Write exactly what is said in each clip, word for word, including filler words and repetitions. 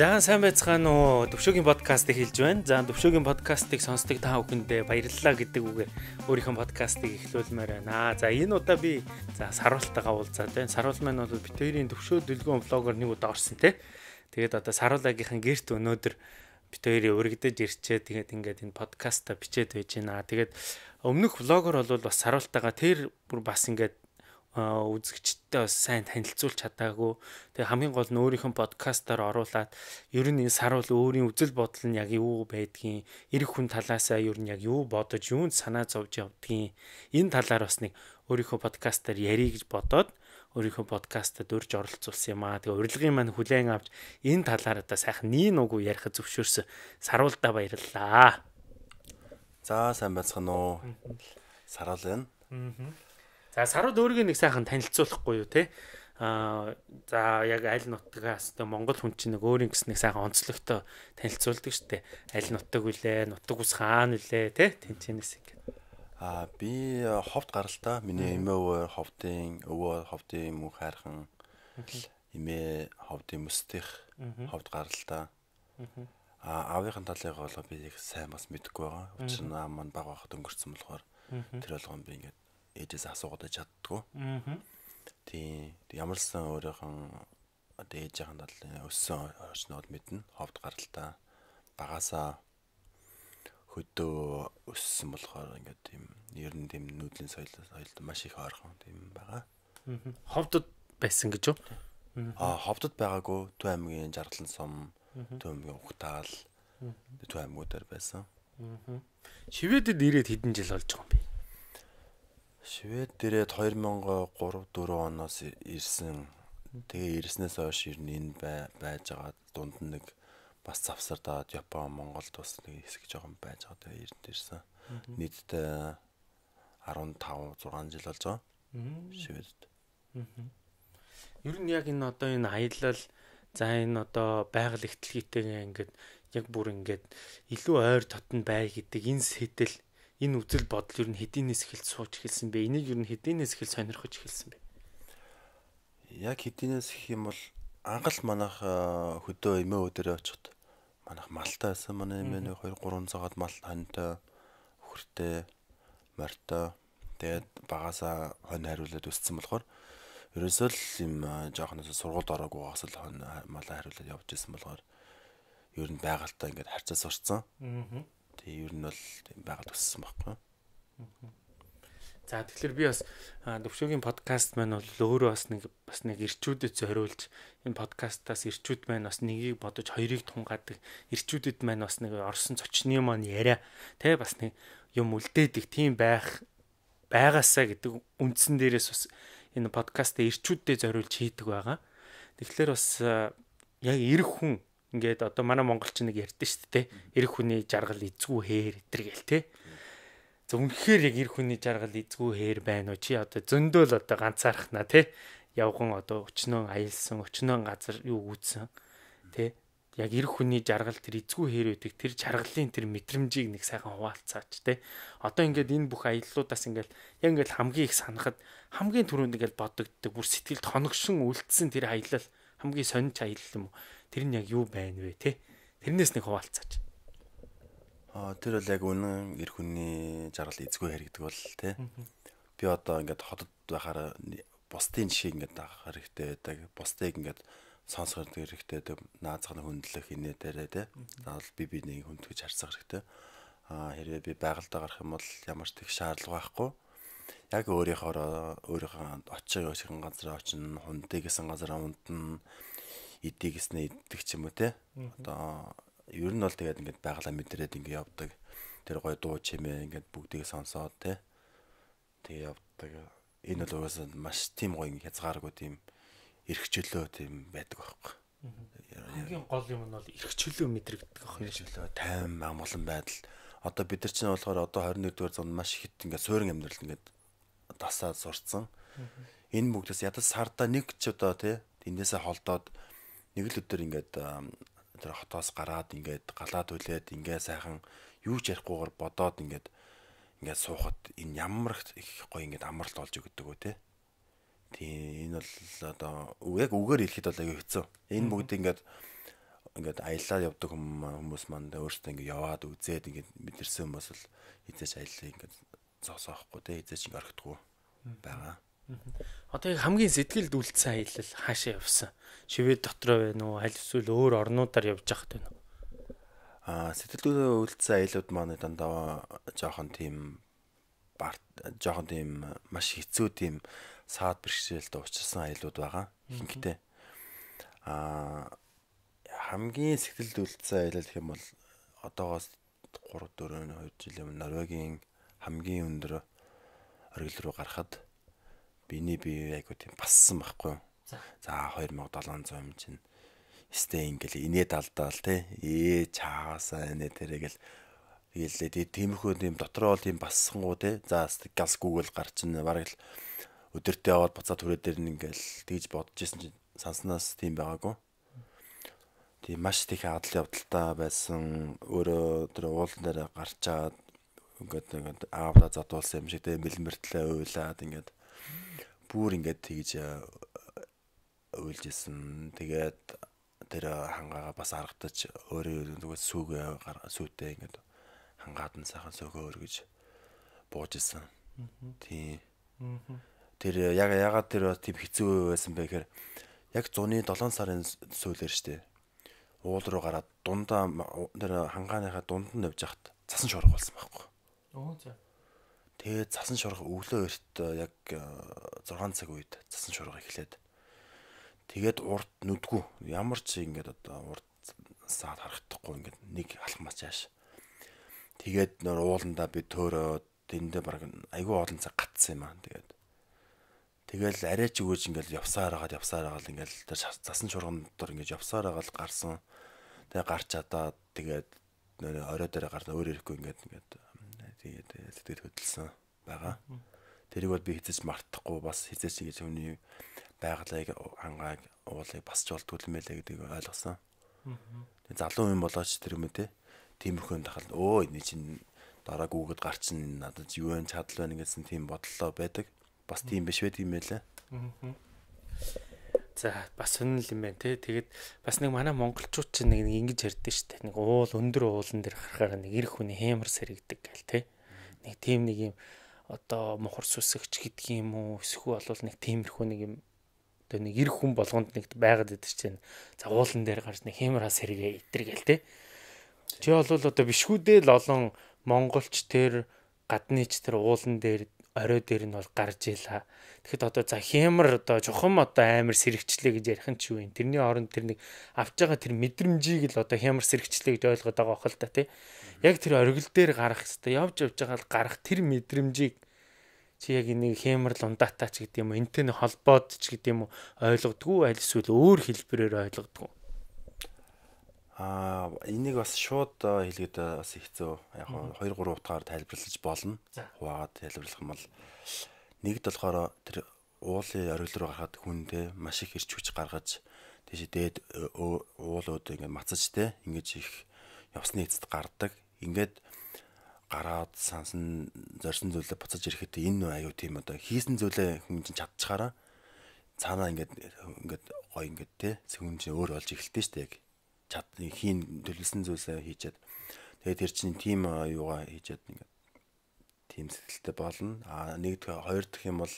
За сайн байцгаана уу. Төвшөөгийн подкастыг хэлж байна. За Төвшөөгийн подкастыг сонсдог та бүхэндээ баярлалаа гэдэг үгээр өөрийнхөө подкастыг эхлүүлмээр байна. За энэ удаа би за Саруултайгаа уулзаад байна. Саруул маань бол бит хоёрын Төвшөө дэлгүүн влогоор нэг удаа орсон те. Тэгээд одоо Саруулагийнхан гэрт өнөөдөр бит хоёрын урагдаж ирчээ. Тэгээд ингээд энэ подкаста бичээд байж байна. Тэгээд өмнөх влогоор бол бас Саруултайгаа тэр бүр бас ингээд үзэгчдтэй бас сайн танилцуулж чадаагүй. Тэгээ хамгийн гол нь өөрийнхөө подкастаар оруулаад ер нь энэ Саруул өөрийн үзэл бодол нь яг юу байдгийг, эр хүн талаасаа ер нь яг юу бодож, юунд санаа зовж явдгийг энэ талаар бас нэг өөрийнхөө подкастаар ярих гэж бодоод өөрийнхөө подкастад урьж оролцуулсан юм аа. Тэгээ урилгын маань хүлээн авч энэ талаар одоо сайхан нийн угу ярих зөвшөөрсөн Саруулдаа баярлалаа. За сайн байцгаана уу. Саруул байна. Аа. За Саруул өөрийгөө нэг сайхан танилцуулахгүй юу те. Аа за яг аль нутгаас тэ Монгол хүн чинь нэг өөрийн гэс нэг сайхан онцлогтой танилцуулдаг штэ. Аль нутаг вүлээ, нутаг ус хаана вүлээ те. Тэнцэнэс ингэ. Аа би ховд гаралтай. Миний эмээ өвөө ховдын өвөө ховдын мөн хайрхан. Эмээ ховдын мөстих ховд гаралтай. Аа аавынхын талыг бол би их сайн бас мэдэхгүй байгаа. Учир нь маань баг байхад өнгөрцөн болохоор тэр болгон би ингэ ээжээс асуугаад чаддгүй. Аа. Тийм ямар ч сан өөрийнхөө одоо ээжийн талын өссөн орчнод мэднэ. Ховд гаралтай. Багасаа хөдөө өссөн болохоор ингээд тийм ер нь тийм нүүдлийн соёл соёлд маш их ойрхон тийм байгаа. Аа. Ховдод байсан гэж юу? Аа ховдод байгаагүй. Төв аймгийн Жаргалан сум, Төв аймгийн Ухтаал, Төв аймгуудаар байсан. Аа. Шивэдэд ирээд хэдэн жил болж байгаа юм бэ? Швед дээрээ two thousand three four оноос ирсэн. Тэгээ ирснээс хойш ер нь энэ байж байгаа дунд нь нэг бас завсардаад Япон, Монголд бас нэг хэсэг жоохон байж байгаа. Тэгээ эрдэнэ ирсэн. Нийтдээ fifteen six жил болж байгаа. Шведд. Ер нь яг энэ одоо энэ аялал за энэ одоо байгаль ихтлгийтэйгээ ингээд яг бүр ингээд илүү ойр дотн бай гэдэг энэ сэтэл энэ үзэл бодол ер нь хэдийнээс эхэлж сууж эхэлсэн бэ? Энийг ер нь хэдийнээс эхэлж сонирхож эхэлсэн бэ? Яг хэдийнээс их юм бол анхал манайх хөдөө эмээ өдөрөө очиход манайх малтай байсан. Манай эмээ нэг two three цагаад мал хантай, хөртэй, морьтой. Тэгээд багасаа хонь хариулаад өссөн болохоор ерөөсөө л юм жоохноос сургуульд ороогүйгаас л хонь малаа хариулаад явж исэн болохоор ер нь байгальтай ингээд харьцаа сурцсан. Аа. Тэгээ ер нь бол тийм байгаль өссөн байхгүй. За тэгэхээр би бас Төвшөөгийн подкаст маань бол өөрөө бас нэг бас нэг ирчүүдэд зориулж энэ подкастаас ирчүүд маань бас нэгийг бодож хоёрыг тунгаадаг. Ирчүүдэд маань бас нэг орсон цочны маань яриа тэ бас нэг юм үлдээдэг тийм байх байгаасаа гэдэг үндсэн дээрээс бас энэ подкастаа ирчүүдэд зориулж хийдэг байгаа. Тэгэхээр бас яг эр хүн ингээд одоо манай монголч нэг ярьдэн шүү дээ. Эр хүний жаргал эзгүй хээр гэтэр гээл те. За үнэхээр яг эр хүний жаргал эзгүй хээр байна уу? Чи одоо зөндөөл одоо ганцаархнаа те. Явган одоо өчнөө аялсан, өчнөө газар юу үүсэн те. Яг эр хүний жаргал тэр эзгүй хээр үүдэг тэр жаргалын тэр мэдрэмжийг нэг сайхан хуваалцаач те. Одоо ингээд энэ бүх аяллуудаас ингээд яг ингээд хамгийн их санахад хамгийн түрүүнд ингээд бодогддог бүр сэтгэлд хоногшин үлдсэн тэр аялал хамгийн сонирч аялал юм уу? Тэр нь яг юу байна вэ те? Тэрнээс нэг хуваалцаач. Аа тэр бол яг үнэн эр хүний жаргал эзгүй хэрэг гэдэг бол те. Би одоо ингээд хотод байхаар бусдын жишээ ингээд авах хэрэгтэй байдаг. Бусдыг ингээд сонсох хэрэгтэй байдаг. Наазахны хөндлөх инээ дээрээ те. Заавал би бинийг хөндлөж харьцах хэрэгтэй. Аа хэрвээ би байгальдаа гарах юм бол ямар ч их шаардлага байхгүй. Яг өөрийнхөө өөрийнхөө очих өсгөн газар очино, хундыг гэсэн газар ундна. Идийг гэснээ иддэг ч юм уу те. Одоо ер нь бол тэгээд ингээд байгалаа мэдрээд ингээд явдаг. Тэр гой дуу чимээ ингээд бүгдийг сонсоод те. Тэгээ явдаг. Энэ бол угаасаа маш тийм гоё хязгааргүй тийм эрхчлөө тийм байдаг байхгүй. Хамгийн гол юм нь бол эрхчлөө мэдрэгдэх байх юм шүү. Тайван амгалан байдал. Одоо бид нар чинь болохоор одоо twenty-first дугаар зуунд маш их ингээд суурин амьдрал ингээд дасаад сурцсан. Энэ бүгдээс ядаж сарда нэг ч одоо те эндээсээ холдоод нэг л өдөр ингээд тэр хотоос гараад ингээд галаад үлээд ингээд сайхан юу ч ярихгүйгээр бодоод ингээд ингээд суухад энэ ямар их гоё ингээд амралт олж өгдөг үү те. Тийм энэ бол одоо яг үгээр хэлэхэд бол аягүй хэцүү. Энэ бүгд ингээд ингээд аяллаа явдаг хүмүүс маань өөрсдөө ингээд яваад үзээд ингээд мэдэрсэн хүмүүс л эзэж аяллаа ингээд зогсоохгүй те эзэж ингээд орхидгүй байгаа. Одоо яг хамгийн сэтгэлд үлдсэн аялал хаашаа явсан? Шивэд дотроо байна уу? Аль эсвэл өөр орнуудаар явж байхад байна уу? Аа сэтгэлдээ үлдсэн аялууд маань дандаа жоохон тийм барт жоохон тийм маш хэцүү тийм саад бэрхшээлд учирсан аялууд байгаа. Ихэнхдээ аа хамгийн сэтгэлд үлдсэн аялал гэх юм бол одоогоос три дөрөв хоёр жил өмнө Норвегийн хамгийн өндөр оргил руу гарахад биний бие айгуу тийм бассан байхгүй юу. За two thousand seven hundred юм чинь стей ингээл инээд алдаал те ээ чаасаа нэ тэрэгэл тэгэлээ тиймэрхүү тийм дотроо бол тийм бассангуу те за газ гүгэл гарч ин бараг л өдөртөө яваад буцаад түрээ дээр нь ингээл тэгж бодож исэн чинь санснаас тийм байгаагүй. Тийм маш их адал явдалтай байсан. Өөрөө тэр уулан дээр гарч чаад ингээд ингээд аавда задуулсан юм шиг те мэлмэртлээ уйлаад ингээд бүр ингээд тэгж уйлж исэн. Тэгээд тэр хангаагаа бас аргадаж өөрөө зүгээр сүүгээ сүүтэй ингээд хангаад нь сайхан сөөгөө өргөж бууж исэн. Тийм. Тэр яг ягаад тэр тийм хэцүү байсан бэ гэхээр яг зуны seven сарын сүүлээр штэ. Уул руу гараад дундаа тэр хангааныхаа дунд нь явж хахад цасан шорох болсон байхгүй. Оо за. Тэгээд цасан шорох өглөө эрт яг six цаг үед цасан шорох эхлээд тэгээд урд нүдгүй ямар ч ингээд одоо урд саад харагдахгүй ингээд нэг алхмаач яаш. Тэгээд нөр ууландаа би төөрөө тэндээ баг айгүй олон цаг гатсан юм аа. Тэгээд тэгэл арайч өгөөж ингээд явсаар хагаад явсаар хагаад ингээд тэр цасан шоргон дотор ингээд явсаар хагаад гарсан. Тэгээ гарч чадаад тэгээд орой дээр гарна өөр ирэхгүй ингээд ингээд тэгээд сэтгэл хөдлсөн байгаа. Тэрийг бол би хэзээ ч мартахгүй бас хэзээ ч ингэж хүний байгалыг хангааг уулыг басч болдгүй юм байлаа гэдгийг ойлгосон. Тэгээд залуу юм болооч тэр юм те. Тиймэрхүү тахал өө энэ чинь дараа гүгэд гарчин надад юу вэ чадал байна гэсэн тийм бодлоо байдаг. Бас тийм биш байдаг юм байлаа. За бас сонирхол юм байна те. Тэгээд бас нэг манай монголчууд ч нэг ингэж ярьдэн штэ. Нэг уул өндөр уулан дээр харахаар нэг эр хүний хэмэр сэрэгдэг гэл те. Нэг тийм нэг юм одоо мохор сүсгч гэдг юм уу? Эсвэл бол нэг тиймэрхүү нэг юм одоо нэг эр хүн болгонд нэг байгаад идэв чинь. За уулан дээр гарч нэг хэмэр хас сэргээ итэргээл те. Чи бол одоо бишгүүдээ л олон монголч тэр гадныч тэр уулан дээр орой дээр нь бол гарч ийлаа. Тэгэхэд одоо за хэмэр одоо чухам одоо амар сэрэгчлээ гэж ярих нь ч юу юм. Тэрний оронд тэр нэг авч байгаа тэр мэдрэмжийг л одоо хэмэр сэрэгчлээ гэж ойлгоод байгаа хэл та тий. Яг тэр оргил дээр гарах хэвээр явж явж байгаа л гарах тэр мэдрэмжийг чи яг нэг хэмэр л ундаатай ч гэдэг юм уу. Энтэй нэг холбоод ч гэдэг юм уу ойлгодгүй аль эсвэл өөр хэлбэрээр ойлгодгүй. Аа энийг бас шууд хэлгээд бас хэцүү. Яг two three утгаар тайлбарлаж болно. Хуваагаад тайлбарлах юм бол нэгд болохоор тэр уулын оргил руу гарахад хүндээ маш их ирч хүч гаргаж тийш дээд уулууд ингээд мацаж те ингэж их явсны эцэд гардаг. Ингээд гараад сансан зорьсон зүйлээ буцаж ирэхэд энэ аюу тийм одоо хийсэн зүйлээ хүн чинь чадчихаараа цаанаа ингээд ингээд гой ингээд те хүн чинь өөр болж эхэлдэг шүү дээ яг. Чад хийн төлөвлөсөн зүйлсээ хийчихэд тэгээд тэр чинь тим юугаа хийчихэд ингээд тим сэтгэлтэй болно. А нэг хоёр дахь юм бол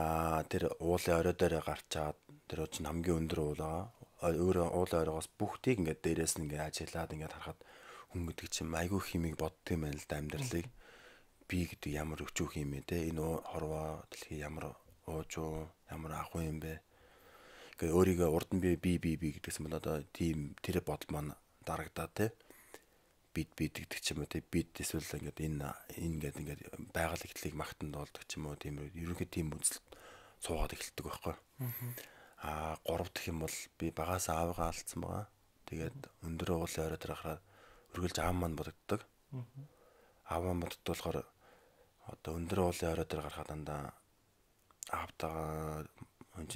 а тэр уулын орой дээр гарчаад тэр чинь хамгийн өндөр уулаа өөр уулын оройгоос бүгдийг ингээд дээрээс нь ингээд ажиглаад ингээд харахад хүн гэдэг чинь айгүй химиг бодд юм байна л да амьдралыг би гэдэг ямар өчүүх юм бэ те энэ хорвоо дэлхий ямар уужуу ямар ахуй юм бэ. Гэ өөрийгөө урд нь би би би би гэдгсэн бол одоо тийм тэр бодол маань дарагдаа те бид бид гэдэг ч юм уу те бид эсвэл ингээд энэ энэ гэдэг ингээд байгаль ихтлийг магтанд болдог ч юм уу тийм ерөнхий тийм үзэл суугаад эхэлдэг байхгүй. Аа гурав дахь юм бол би багаас аавгаа алдсан байгаа. Тэгээд өндөр уулын орой дээр гараад үргэлж аав маань бодогддог. Аав маань боддог болохоор одоо өндөр уулын орой дээр гарахад дандаа аавтайгаа хүн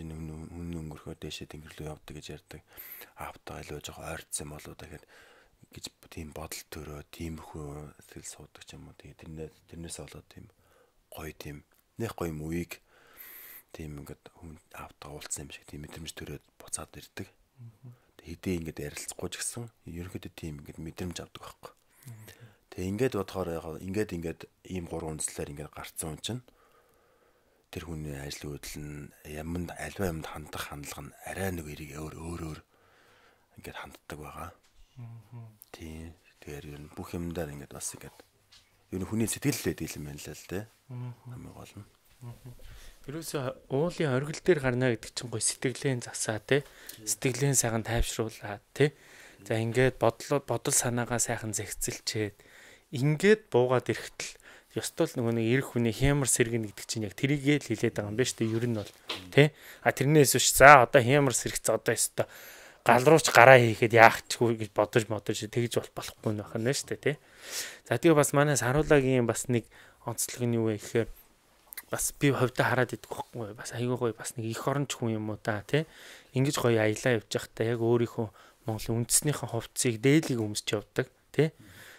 хүн өнгөрөхөөр дээшээ тэнгэр рүү явдаг гэж ярьдаг. Аавтайгаа илүү жоох ойрцсон болоо дахиад гэж тийм бодол төрөө тиймэрхүү сэтгэл суудаг ч юм уу. Тэгээ тэрнээс тэрнээс болоод тийм гоё тийм нэг гоё юм үеиг тийм ингээд хүн аавтайгаа уулзсан юм шиг тийм мэдрэмж төрөөд буцаад ирдэг. хэдий ингээд ярилцахгүй ч гэсэн ерөнхийдөө тийм ингээд мэдрэмж авдаг байхгүй. Тэгээ ингээд бодохоор яг ингээд ингээд ийм гурван үндслээр ингээд гарцсан хүн чинь тэр хүний ажлын хөдөл нь яманд альва юмд хандах хандлага нь арай нэг эрийг өөр өөр ингээд ханддаг байгаа. Тийм. Тэгэхээр ер нь бүх юмдаар ингээд бас ингээд ер нь хүний сэтгэллээ дийлэн байна л л дээ. Хамгийн гол нь. Ерөөсө уулын оргил дээр гарна гэдэг чинь гой сэтгэлийн засаа те. Сэтгэлийн сайхан тайвшруулаад те. За ингээд бодол бодол санаагаа сайхан зэгцэлчээд ингээд буугаад ирэхтэл ёстол нөгөө нэг эрх хүний хямар сэргэн гэдэг чинь яг тэрийгээ л хилээд байгаа юм байна шүү дээ. Ер нь бол тий. А тэрнээс биш за одоо хямар сэрэгц одоо ёстой гал рууч гараа хийхэд яах чгүй гэж бодож модож тэгж бол болохгүй нөх юм байна шүү дээ тий. За тэгээ бас манай Саруулагийн бас нэг онцлог нь юу вэ гэхээр бас би ховдоо хараад идэх байхгүй бас айгүй гоё бас нэг их оронч хүн юм уу та тий. Ингиж гоё аялаа явж байхдаа яг өөрийнхөө Монголын үндэснийхэн хувцсыг дээлийг өмсч явдаг тий.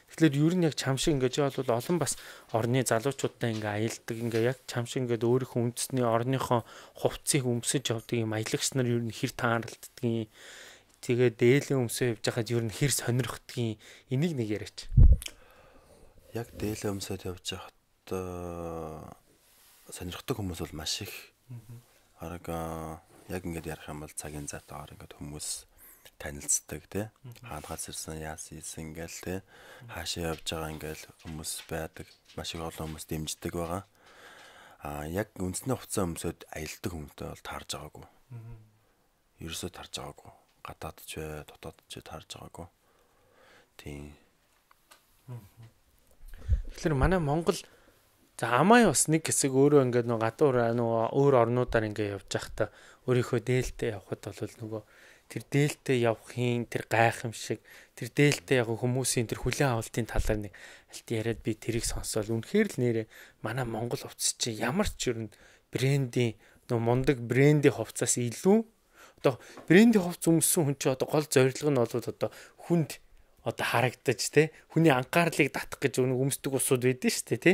Тэгэхээр ер нь яг чам шиг ингэж бол олон бас орны залуучуудтай ингээ аялдаг ингээ яг чам шиг ингээ өөрийнхөө үндэсний орныхоо хувцсыг өмсөж явдаг юм аялагч нар ер нь хэр тааралддгийг тэгээ дээлийн өмсөө явж байхад ер нь хэр сонирхдгийг энийг нэг яриач. Яг дээлийн өмсөд явж байхад сонирхдаг хүмүүс бол маш их. Араг яг ингээд ярих юм бол цагийн зайтаар ингээд хүмүүс танилцдаг тий. Хаанахаас ирсэн яасан ийсэн ингээл тий. Хаашаа явж байгаа ингээл хүмүүс байдаг. Маш их олон хүмүүс дэмждэг байгаа. Аа яг үндэсний хувцас өмсөд аялдаг хүмүүстэй бол таарж байгаагүй. Ерөөсөө таарж байгаагүй. Гадаад ч бай, дотоод ч таарж байгаагүй. Тийм. Тэгэхээр манай Монгол за амаа бас нэг хэсэг өөрөө ингээд нөгөө гадуур нөгөө өөр орнуудаар ингээд явж байхдаа өөрийнхөө дээлтэй явхад бол нөгөө тэр дээлтэй явахын тэр гайхамшиг тэр дээлтэй яг хүмүүсийн тэр хүлээн авалтын талаар нэг алт яриад би тэрийг сонсоод үнэхээр л нэрээ манай Монгол хувцас чи ямар ч юм брендийн нөгөө мундаг брендийн хувцас илүү одоо брендийн хувцас өмссөн хүн чи одоо гол зорилго нь бол одоо хүнд одоо харагдаж те хүний анхаарлыг татах гэж өмсдөг усуд байдэн шүү дээ те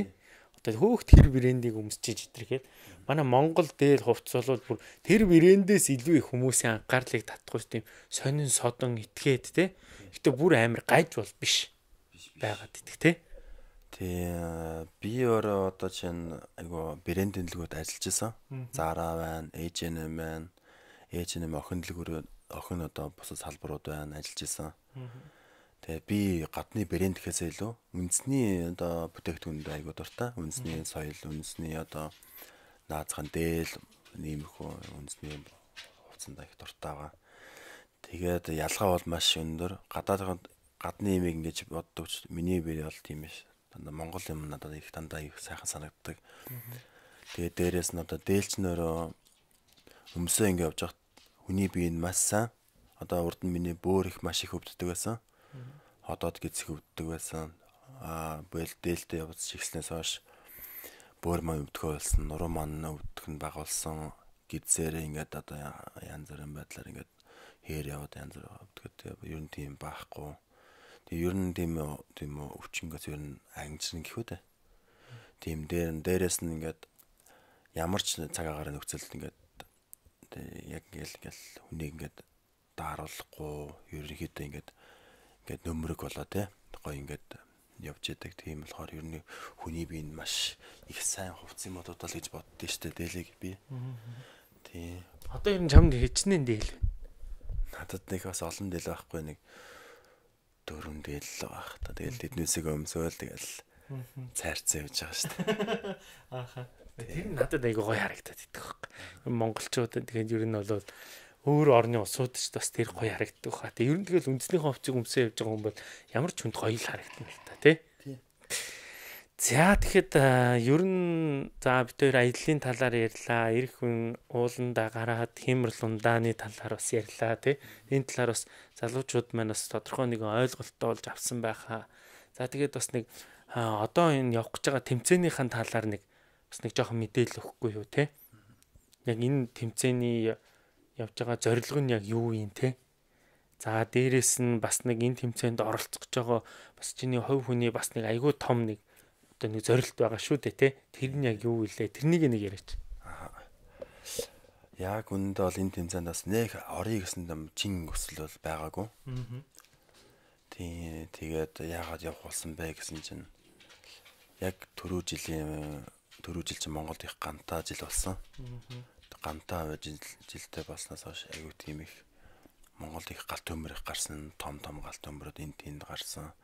одоо хөөх тэр брендийг өмсчиж идэрхэд манай Монгол дээр хувцас бол бүр тэр брэндээс илүү их хүмүүсийн анхаарлыг татах тийм сонин содон итгээд те. Гэтэ бүр амар гайж бол биш байгаад идэх те. Тий би өөрөө одоо чинь айгу брэндийн дэлгүүрт ажиллаж исэн. Zara байна, эйч энд эм байна. эйч энд эм охин дэлгүүр охин одоо бусад салбарууд байна ажиллаж исэн. Тэгээ би гадны брэнд гэхээсээ илүү үндэсний одоо бүтээгдэхүүнд айгу дуртай. Үндэсний соёл, үндэсний одоо наацхан дээл иймэрхүү үндэсний хувцанд их дуртай байгаа. Тэгээд ялгаа бол маш өндөр. Гадаад гадны имийг ингэж боддог ч миний бие бол тийм биш. Дандаа Монгол юм надад их дандаа их сайхан санагддаг. Тэгээд дээрэс нь одоо дээлчнөрөө өмсөө ингэ явж байхад хүний бие нь маш сайн. Одоо урд нь миний бөөр их маш их өвддөг байсан. Ходоод гизэх өвддөг байсан. Аа бэл дээлтэй явц чигснээс хойш бөөр маань өвдгөө болсон, нуруу маань өвдөх нь бага болсон. Гидсээр ингээд одоо янз бүрийн байдлаар ингээд хээр яваад янз бүр өвдгөө. Ер нь тийм баахгүй. Тэгээ ер нь тийм тийм өвчнгөөс ер нь ангижрын гэхүү дээ. Тийм дээр дээрээс нь ингээд ямар ч цаг агаар нөхцөлд ингээд яг ингээл ингээл хүнийг ингээд дааруулахгүй ерөнхийдөө ингээд ингээд нөмрөг болоо те. Гоё ингээд явж идэг тийм болохоор ер нь хүний бие нь маш их сайн хувцсан модууд л гэж боддөө штэ дээлийг би. Тий. Одоо ер нь чамд хичнээн дээл. Надад нэг бас олон дээл байхгүй нэг дөрвөн дээл л байх та. Тэгэл тэднээсээ өмсөөл тэгэл цайрцаа явж байгаа штэ. Ааха. Тэр надад айгу гоё харагдаад идэх байхгүй. Монголчуудад тэгээд ер нь бол өөр орны улсууд ч бас тэр гоё харагддаг хаа. Тэг ер нь тэгэл үндэснийхээ хувцсыг өмсөө явж байгаа хүн бол ямар ч хүнд гоё л харагдана л та тий. За тэгэхэд ер нь за бид хоёр аяллаа талаар ярьлаа. Ирэх хүн ууланда гараад хэмэр лундааны талаар бас ярьлаа тий. Энэ талаар бас залуучууд маань бас тодорхой нэгэн ойлголттой болж авсан байхаа. За тэгээд бас нэг одоо энэ явах гэж байгаа тэмцээнийхэн талаар нэг бас нэг жоохон мэдээлэл өгөхгүй юу тий. Яг энэ тэмцээний явж байгаа зорилго нь яг юу юм те. За дээрэс нь бас нэг энэ тэмцээнд оролцох гэж байгаа бас чиний хувь хүний бас нэг айгүй том нэг одоо нэг зорилт байгаа шүү дээ те. Тэр нь яг юу вэ? Тэрнийг нэг яриач. Яг үндэ бол энэ тэмцээнд бас нэг орё гэсэн юм чин өсөл бол байгаагүй. Аа. Тий, тэгээд яагаад явах болсон бэ гэсэн чинь яг түрүү жилийн түрүү жил чинь Монголд их гантаа жил болсон. Гантаа жил жилдээ болсноос хойш аюу тийм их Монголд их галт төмөр их гарсан, том том галт төмөрөд энэ тэнд гарсан.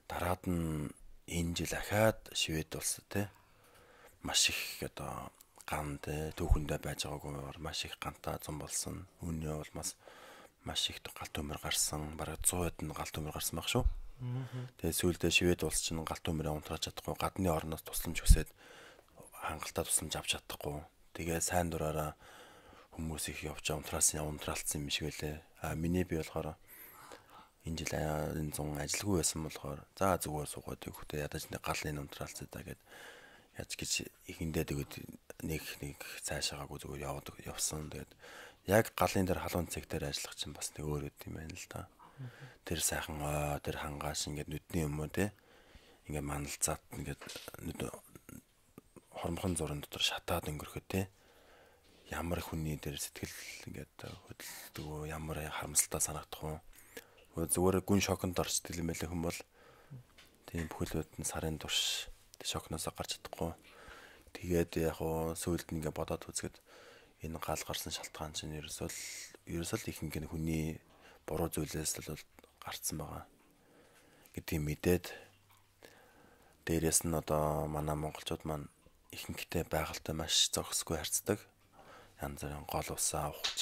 Дараад нь энэ жил ахаад Швед улс те маш их одоо ганд түүхэндээ байж байгаагүй маш их гантаа зам болсон. Үүний бол бас маш их галт төмөр гарсан. Бараг цаад нь галт төмөр гарсан баг шүү. Тэгээд сүүлдээ Швед улс чинь галт төмөрөө унтрааж чадахгүй, гадны орноос тусламж хүсээд хангалттай тусламж авч чадахгүй. Тэгээд сайн дураараа хүмүүс их явж унтраасан унтраалцсан юм шиг байлээ. А миний би болохоор энэ жил энэ зун ажилгүй байсан болохоор за зүгээр суугаад өгөхдөө ядаж нэг галын унтраалцаа да гэд яаж гэж ихэндээ тэгээд нэг нэг цаашаагаа зүгээр яваад явсан. Тэгээд яг галын дээр халуун цэг дээр ажиллах чинь бас нэг өөр үт юм байна л да. Тэр сайхан ой тэр хангааш ингээд нүдний юм уу те ингээд маналцаад ингээд хормхон зурын дотор шатаад өнгөрөхөө те ямар хүний дээр сэтгэл ингээд хөдөлдөг ямар харамсалтай санагдах уу зүгээр гүн шоконд орчдөг юм байлаа хүм бол тийм бүхэлд нь сарын турш шокноос гарч чадахгүй. Тэгээд яг хуу сүйд нь ингээд бодоод үзэхэд энэ гал гарсан шалтгаан чинь ерөөсөө ерөөсөө ихэнх нь хүний буруу зүйлээс л гарцсан байгаа гэдгийг мэдээд дээрээс нь одоо манай монголчууд маань ихэнхдээ байгальтай маш зохисгүй харьцдаг. Янз бүрийн гол усаа ухаж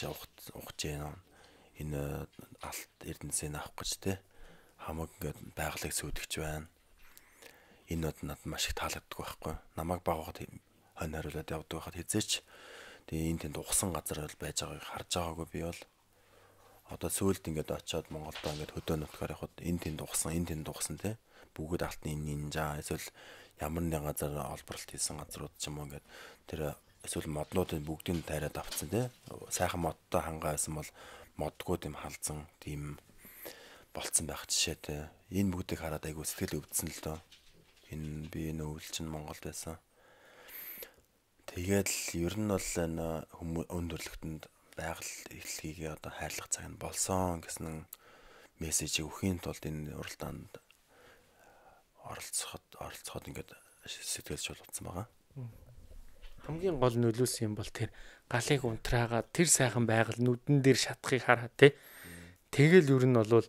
ухаж гэнэ энэ алт эрдэнэсийг авах гэж те хамаг ингээд байгалыг сүйдэгч байна. Энэ нод надад маш их таалагддаг байхгүй. Намайг багахад хонь хариулаад явдаг байхад хизээч тэгээ энэ тэнд ухсан газар бол байж байгааг харж байгаагүй би бол одоо сүүлд ингээд очиод Монголдоо ингээд хөдөө нутгаар явхад энэ тэнд ухсан энэ тэнд ухсан те бүгд алтны нинжа эсвэл ямар нэгэн газар олборлт хийсэн газрууд ч юм уу ингээд тэр эсвэл моднуудын бүгдийг тайраад авцсан те сайхан модтой хангаа байсан бол модгүй тийм халдсан тийм болцсон байх жишээтэй энэ бүгдийг хараад айгу сэтгэл өвдсөн л доо. Энэ би энэ өвөл чинь Монголд байсан. Тэгээд л ер нь бол энэ хүмүүс өндөрлөгтөнд байгаль эрхлэгийг одоо хайрлах цаг нь болсон гэсэн мессежийг өгөхийн тулд энэ уралдаанд оролцоход оролцоход ингээд сэтгэлж болцсон байгаа. Хамгийн гол нөлөөсөн юм бол тэр галыг унтраагаад тэр сайхан байгаль нүдэн дээр шатахыг хараа те. Тэгэл ер нь бол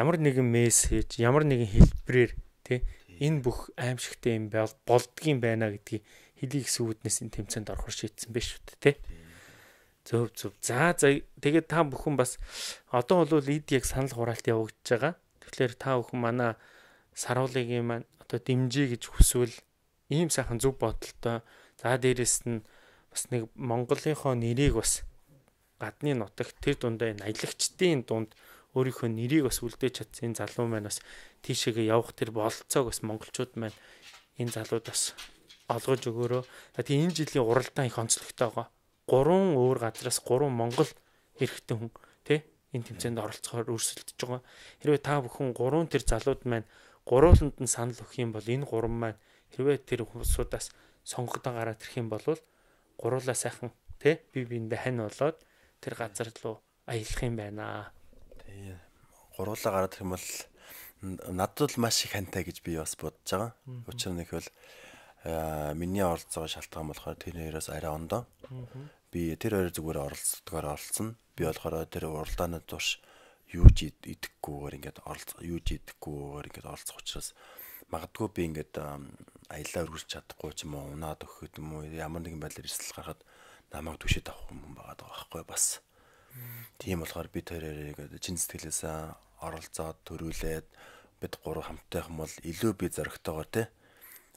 ямар нэгэн мессеж, ямар нэгэн хэлбэрээр те энэ бүх аимшигтай юм болдгийм байна гэдгийг хэлийг сүүднээс энэ тэмцээнд орохор шийдсэн байж шүү дээ те. Зөв зөв. За за тэгээд та бүхэн бас одоо бол эд яг санал хураалт явагдаж байгаа. Тэгэхээр та бүхэн манай саруулыгийн маань одоо дэмжиж гэж хүсвэл ийм сайхан зөв бодолтой. За дээрэс нь бас нэг Монголынхоо нэрийг бас гадны нутагт тэр дундаа энэ аялагчдын дунд өөрийнхөө нэрийг бас үлдээж чадсан залуу маань бас тийшээгээ явах тэр бололцоог бас монголчууд маань энэ залууд бас олгож өгөөрөө. Тэгээ энэ жилийн уралдаан их онцлогтой байгаа. Гурван өөр газраас гурван монгол эрэгтэй хүн тий энэ тэмцээнд оролцохоор өрсөлдөж байгаа. Хэрвээ та бүхэн гурван тэр залууд маань гурвууланд нь санал өгөх юм бол энэ гурван маань хэрвээ тэр хүмүүсудаас сонгогдсон гараад ирэх юм бол гуруулаа сайхан тий бие биендээ хань болоод тэр газар руу аялах юм байна. Тий. Гуруулаа гараад ирэх юм бол надад л маш их хантай гэж би бас бодож байгаа. Учир нь их бол миний оролцоо шалтгаан болохоор тэр хоёроос арай ондоо. Би тэр хоёр зүгээр оролцдогоор оролцсон. Би болохоор тэр уралдааны турш юу ч идэхгүйгээр ингээд оролцох, юу ч идэхгүйгээр ингээд оролцох учраас магадгүй би ингээд аялаа өргөж чадахгүй ч юм уу, унаад өгөх юм уу, ямар нэгэн байдлаар эрсдэл гарахад намайг түшээд авах юм байгаа байхгүй бас. Тийм болохоор би тэр хоёрыг чин сэтгэлээсээ оролцоод төрүүлээд бид гурав хамттай юм бол илүү би зөрөгтэйгээр те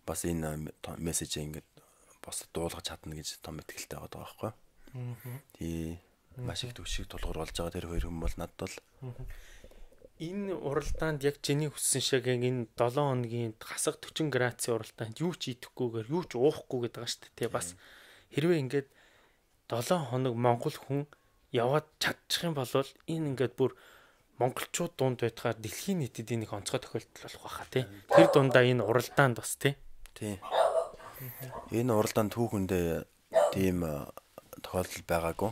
бас энэ мессежийг ингээд бас дуулгаж чадна гэж том итгэлтэй байгаа байхгүй. Тий маш их төвшиг тулгуур болж байгаа тэр хоёр хүн бол надад бол энэ уралдаанд яг чиний хүссэн шиг энэ долоон хоногийн хасаг forty градусын уралдаанд юу ч идэхгүйгээр юу ч уухгүйгээд байгаа шүү дээ. Бас хэрвээ ингээд долоон хоног монгол хүн яваад чадчих юм бол энэ ингээд бүр монголчууд дунд байтгаар дэлхийн нийтэд энийг онцгой тохиолдол болох байхаа тий. Тэр дундаа энэ уралдаанд бас тий. Тий. Энэ уралдаанд түүхэндээ тийм тохиолдол байгаагүй.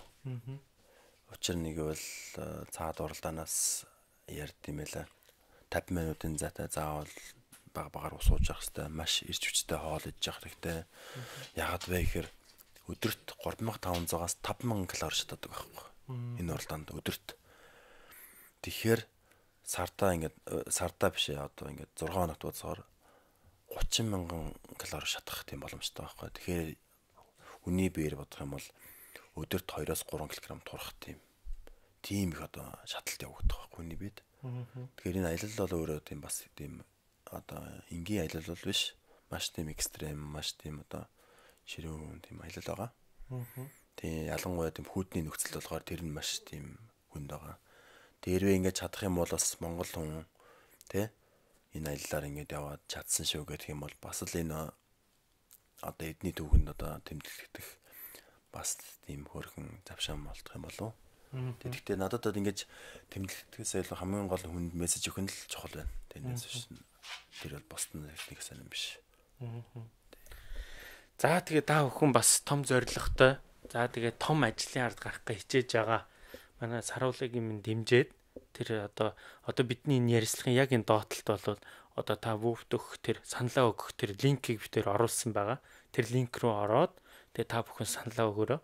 Учир нэг бол цаад уралдаанаас ярьд юм байлаа. таван минутын зайтай заавал баг багаар ус ууж явах хэрэгтэй. Маш ирж хүчтэй хоол идэж явах хэрэгтэй. Яагаад вэ гэхээр өдөрт гурван мянган таван зугаас таван мянган калори шатаадаг байхгүй. Энэ уралдаанд өдөрт. Тэгэхээр сартаа ингээд сартаа биш ээ одоо ингээд зургаан хоногт ууцаар гучин мянган калори шатах тийм боломжтой байхгүй. Тэгэхээр үний биеэр бодох юм бол өдөрт хоёроос гурван килограмм турах тийм тийм их одоо шаталт явагдах байхгүй хүний биед. Тэгэхээр энэ аялал бол өөрөө тийм бас тийм одоо энгийн аялал бол биш. Маш тийм экстрем, маш тийм одоо ширүүн тийм аялал байгаа. Тийм ялангуяа тийм хүүдний нөхцөл болохоор тэр нь маш тийм хүнд байгаа. Дээрвээ ингэж чадах юм бол бас Монгол хүн тий энэ аяллаар ингэж яваад чадсан шүү гэх юм бол бас л энэ одоо эдний түүхэнд одоо тэмдэглэгдэх бас тийм хөрхөн завшаан болдох юм болов уу? Тэгэхдээ надад бол ингэж тэмдэглэхээс илүү хамгийн гол хүнд мессеж өгөх нь л чухал байна. Тэрнээс биш. Тэр бол босдон нэг сайн юм биш. За тэгээ та бүхэн бас том зоригтой. За тэгээ том ажлын ард гарах гэж хичээж байгаа. Манай саруулыг юм дэмжиж тэр одоо одоо бидний энэ ярилцлагын яг энэ доотлолт бол одоо та вүүфт өгөх тэр саналаа өгөх тэр линкийг битээр оруулсан байгаа. Тэр линк рүү ороод тэгээ та бүхэн саналаа өгөөрэй.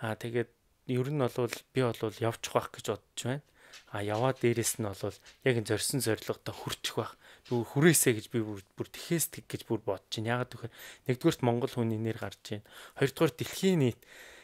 Аа тэгээд ер нь бол би бол явчих байх гэж бодож байна. А яваад дээрэс нь бол яг энэ зорьсон зорилготой хүрчих байх. Бүр хүрээсэй гэж би бүр тэхээс тэг гэж бүр бодож байна. Ягаад гэвэл нэгдүгээрт Монгол хүний нэр гарч байна. Хоёрдугаар дэлхийн нийт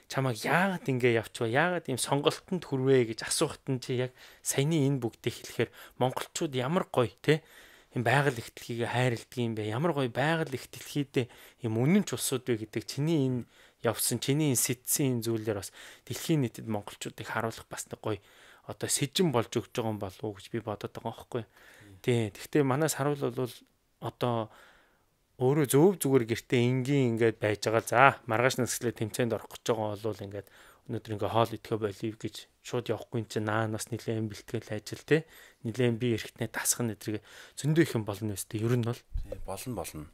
чамайг яагаад ингэ явчихваа? Яагаад ийм сонголтонд хүрвэ гэж асуухт нь чи яг саяны энэ бүгдийг хэлэхээр монголчууд ямар гоё те ийм байгаль ихтлхийг хайрладаг юм бэ? Ямар гоё байгаль ихтлхийдээ ийм үнэн ч усууд вэ гэдэг чиний энэ явсан чиний энэ сэтсэн зүйлээр бас дэлхийн нийтэд монголчуудыг харуулах бас нэг гоё одоо сэжин болж өгч байгаа юм болов уу гэж би бодоод байгаа байхгүй. Тий. Гэхдээ манайс харуул бол одоо өөрөө зөв зүгээр гэртээ энгийн ингээд байж байгаа. За маргааш насглаа тэмцээнд орох гэж байгаа бол ингээд өнөөдөр ингээ хоол идэхэ болив гэж шууд явахгүй чинь наанаас нилээн бэлтгэл ажил те нилээн би эрэхтнээ тасах нэтрийг зөндөө их юм болно өстэй. Ер нь бол болно болно.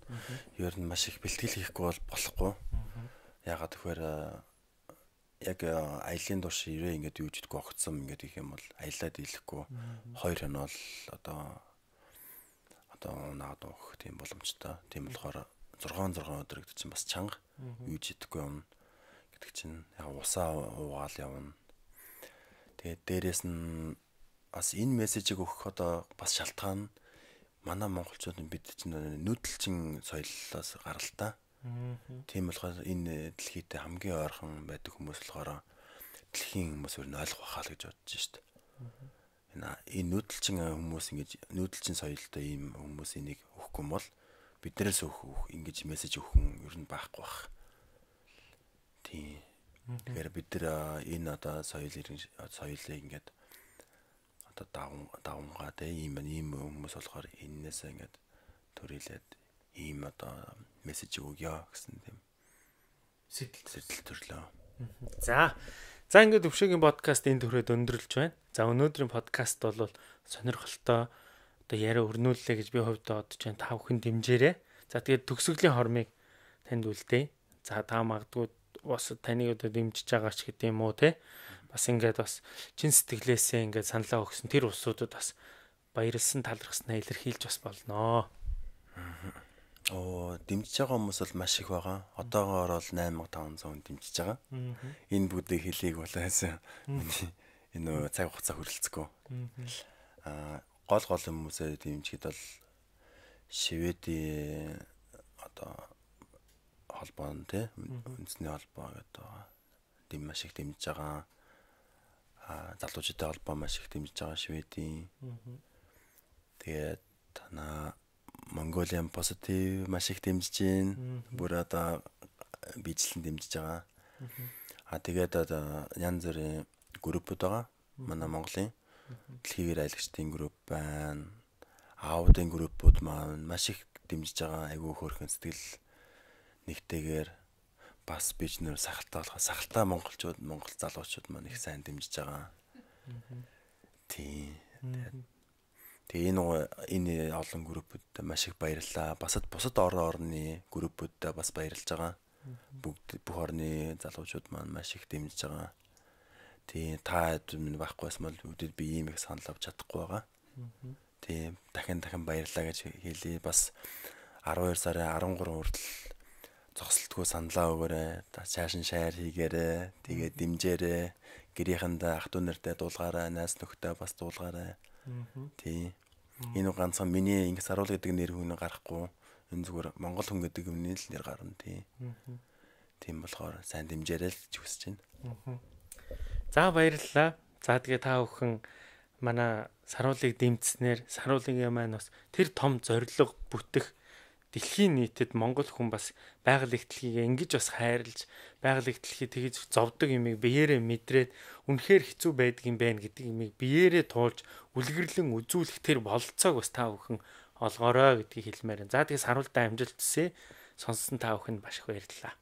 Ер нь маш их бэлтгэл хийхгүй бол болохгүй. Ягаад гэхээр яг аялын турш ирээ ингээд юу гэдэггүй огцсон ингээд их юм бол аялаад ийлэхгүй хоёр хоног бол одоо одоо наад өгөх тийм боломжтой. Тийм болохоор зургаан зургаан өдөр гэдэг чинь бас чанга юу гэдэггүй юм гэдэг чинь яг усаа уугаал явна. Тэгээд дээрэс нь бас энэ мессежийг өгөх одоо бас шалтгаан манай монголчууд бид чинь нүүдэлчин соёлоос гаралтай. Тийм болохоор энэ дэлхийдээ хамгийн ойрхон байдаг хүмүүс болохоор дэлхийн хүмүүс өөр нь ойлгох байхаа л гэж бодож шít. Энэ энэ нүүдэлчин хүмүүс ингэж нүүдэлчин соёлтой ийм хүмүүс энийг өгөхгүй юм бол биднээс өгөх ингэж мессеж өгөх юм ер нь байхгүй бах. Тийм. Тэгэхээр бид нар энэ одоо соёл соёлыг ингээд одоо даван давангаа те ийм ийм хүмүүс болохоор энээс ингээд төрүүлээд ийм одоо мессеж өгье гэсэн тийм сэтэл сэтэл төрлөө. За. За ингээд өвшөгийн подкаст энэ төрөд өндөрлж байна. За өнөөдрийн подкаст бол сонирхолтой одоо яриа өрнүүллээ гэж би хувьдаа бодож байна. Та бүхэн дэмжээрэй. За тэгээд төгсгөлийн хормыг танд үлдээе. За та магадгүй бас таныг одоо дэмжиж байгаа ч гэдэг юм уу те. Бас ингээд бас чин сэтгэлээсээ ингээд саналаа өгсөн тэр усуудад бас баярлсан талархснаа илэрхийлж бас болноо. Оо дэмжиж байгаа хүмүүс бол маш их байгаа. Одоогоор бол восемь мянган таван зуун дэмжиж байгаа. Энэ бүдгийг хэлийг болоос энэ цаг хугацаа хүрэлцэхгүй. Аа гол гол хүмүүсээ дэмжихэд бол Шведийн одоо холбоон тий үндэсний холбоо гэдэг дэм маш их дэмжиж байгаа. Аа залуучуудын холбоо маш их дэмжиж байгаа Шведийн. Тэгээд танаа Mongolian Positive маш их дэмжиж байна. Бүр одоо бичлэн дэмжиж байгаа. А тэгээд одоо янз бүрийн группуд байгаа. Манай Монголын дэлхийгээр аялагчдын групп байна. Аудын группуд маань маш их дэмжиж байгаа. Айгүй хөөрхөн сэтгэл нэгтэйгээр бас бич нэр сахалтай болох сахалтай монголчууд, монгол залуучууд маань их сайн дэмжиж байгаа. Тийм. Тэгээ энэ энэ олон группуд маш их баярлалаа. Басад бусад орон орны группуудаа бас баярлж байгаа. Бүгд бүх орны залуучууд маань маш их дэмжиж байгаа. Тийм та минь байхгүй байсан бол үүдээ би ийм их санал авч чадахгүй байгаа. Тийм дахин дахин баярлалаа гэж хэлье. Бас арван хоёр сарын арван гурав хүртэл зогсолтгүй саналаа өгөөрэй. Цааш нь шаяр хийгээрэй. Тэгээд дэмжээрэй. Гэрийнхэндээ ах дүү нартай дуулгаарай. Найс нөхдөд бас дуулгаарай. Тийм. Энэ ганцхан миний Инх Саруул гэдэг нэр хүн гарахгүй. Энэ зүгээр Монгол хүн гэдэг юмний л нэр гарна тийм. Тийм болохоор сайн дэмжээрэй л гэж хүсэж байна. За баярлалаа. За тэгээ та бүхэн манай Саруулыг дэмжснээр Саруулын маань бас тэр том зориг бүтэх дэлхийн нийтэд Монгол хүн бас байгаль эхтлэгийг ингэж бас хайрлаж байгаль эхтлэхийг тэгж зовдөг юмыг биеэрээ мэдрээд үнэхээр хэцүү байдаг юм байна гэдэг юмыг биеэрээ туулж үлгэрлэн үзүүлэх тэр бололцоог бас та бүхэн олгоорой гэдгийг хэлмээр. За тэгээ Саруулдаа амжилт хүсье. Сонссон та бүхэнд маш их баярлалаа.